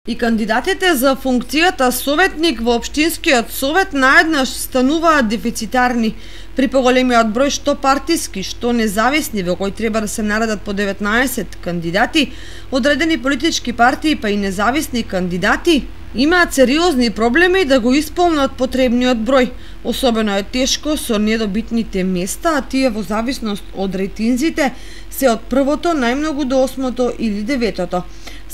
И кандидатите за функцијата советник во општинскиот совет наеднаш стануваат дефицитарни. При поголемиот број што партиски, што независни, во кој треба да се наредат по 19 кандидати, одредени политички партии па и независни кандидати, имаат сериозни проблеми да го исполнат потребниот број. Особено е тешко со недобитните места, а тие во зависност од рейтинзите се од првото најмногу до 8-то или 9-то.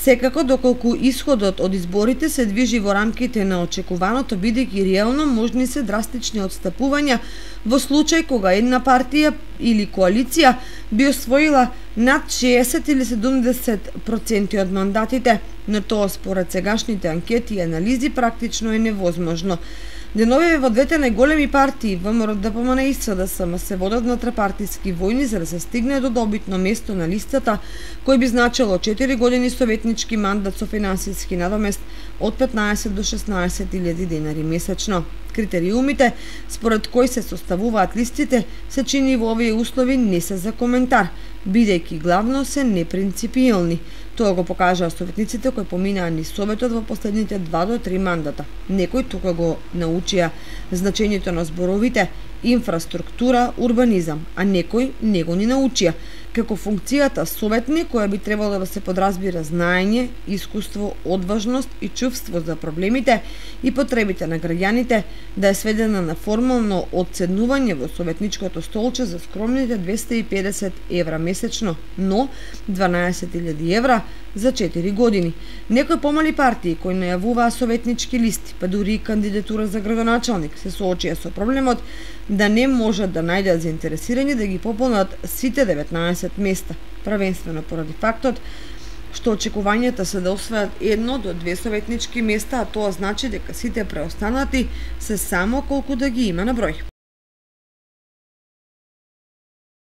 Секако, доколку исходот од изборите се движи во рамките на очекуваното, бидејќи реално можни се драстични отстапувања во случај кога една партија или коалиција би освоила над 60 или 70% од мандатите, но тоа според сегашните анкети и анализи практично е невозможно. Деновиве во двете најголеми партии, ВМРО, ДПМН и СДСМ, се водат внатропартиски војни за да се стигне до добитно место на листата, кој би значило 4 години советнички мандат со финансиски надомест од 15 до 16.000 денари месечно. Критериумите според кои се составуваат листите се чини во овие услови не се за коментар, бидејќи главно се непринципиелни. Тоа го покажаа советниците кои поминаа низ советот во последните 2 до 3 мандата. Некои тука го научија значењето на зборовите инфраструктура, урбанизам, а некои не го ни научија, како функцијата советник, која би требало да се подразбира знаење, искуство, одважност и чувство за проблемите и потребите на граѓаните, да е сведена на формално одседнување во советничкото столче за скромните 250 евра месечно, но 12.000 евра за 4 години. Некои помали партии кои најавуваа советнички листи, па дури и кандидатура за градоначалник, се соочија со проблемот да не можат да најдат заинтересирани да ги пополнат сите 19 места, првенствено поради фактот што очекувањата се да освојат 1 до 2 советнички места, а тоа значи дека сите преостанати се само колку да ги има на број.